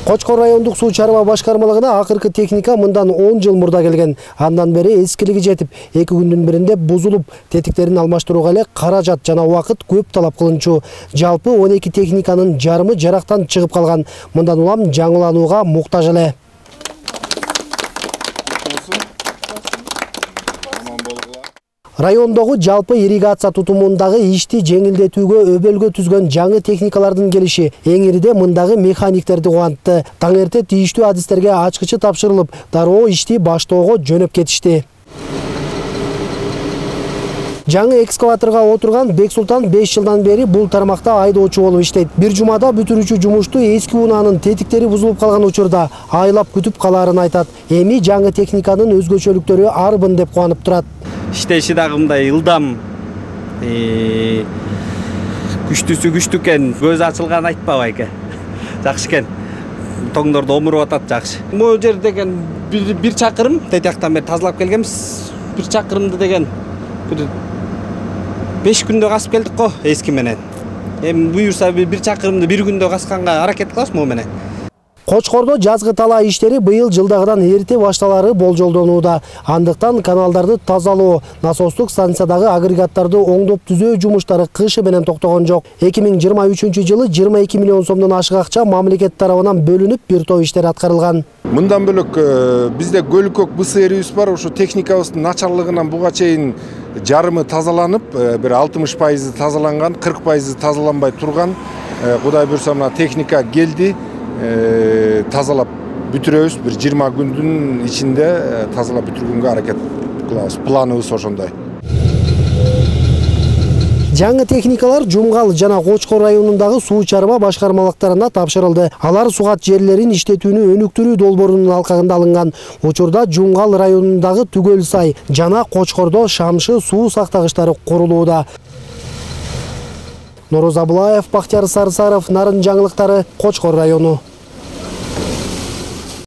Кочкор райондук суу чарба башкармалыгына акыркы техника мындан 10 жыл мурда келген. Андан бери эскилиги жетип, 2 күндүн биринде бузулуп, тетиктерин алмаштырууга эле каражат жана убакыт көп талап кылынчу. Жалпы 12 техниканын жарымы жарактан чыгып калган. Мындан улам жаңыланууга муктаж эле. Райондогу жалпы ирригация тутумундагы ишти жеңилдетүүгө өбөлгө түзгөн жаңы техникалардын келиши эңириде мындагы механиктерди кубантты. Таң эрте тийиштүү адистерге ачкычы тапшырылып, дароо ишти баштоого жөнөп кетишти. Жаңы экскаваторга отурган Бексултан 5 жылдан бери бул тармакта айдоочу болуп иштейт. Бир жумада бүтүрүүчү жумушту эски унаанын тетиктери бузулуп калган учурда айлап күтүп калаарын айтат. Эми жаңы техниканын өзгөчөлүктөрү арбын деп кубанып турат. Иштеши дагы мындай ылдам, күчтүүсү күчтүү экен, көзү ачылган айтпабы эке. Жакшы экен. Тоңдорду омуруп атат жакшы. Могу жер деген бир чакырым тетияктан бери тазалап келгенбиз. Бир чакырымды деген бир 5 күндө касып келдик го эски менен. Эми буюрса бир чакырымды 1 күндө касканга аракет кылабыз могу менен. Кочкордо жазгы талаа иштери быйыл жылдагыдан эрте башталары болжолдонууда. Андыктан каналдарды тазалоо, насостук станциядагы агрегаттарды оңдоп түзөө жумуштары кышы менен токтогон жок. 2023-жылы 22 миллион сомдон ашык акча мамлекет тарабынан бөлүнүп, бир топ иштер аткарылган. Мындан бөлөк бизде Көлүкөк БСРибиз бар, ошо техникабыздын начарлыгынан буга чейин жарымы тазаланып, бир 60% тазаланган, 40% тазаланбай турган. Кудай буйрса мына техника келди. Тазалап бүтүрөбүз, бир 20 күндүн ичинде тазалап бүтүргөнгө аракет кылабыз. Планыбыз ошондой. Жаңы техникалар Жумгал жана Кочкор районундагы суу чарба башкармалыктарына тапшырылды. Алар сугат жерлерин иштетүүнү өнүктүрүү долбоорунун алкагында алынган. Учурда Жумгал районундагы Түгөл сай жана Кочкордо Шамшы суу сактагычтары курулууда. Нороз Абылаев, Бактияр Сарсаров, Нарын жаңылыктары, Кочкор району.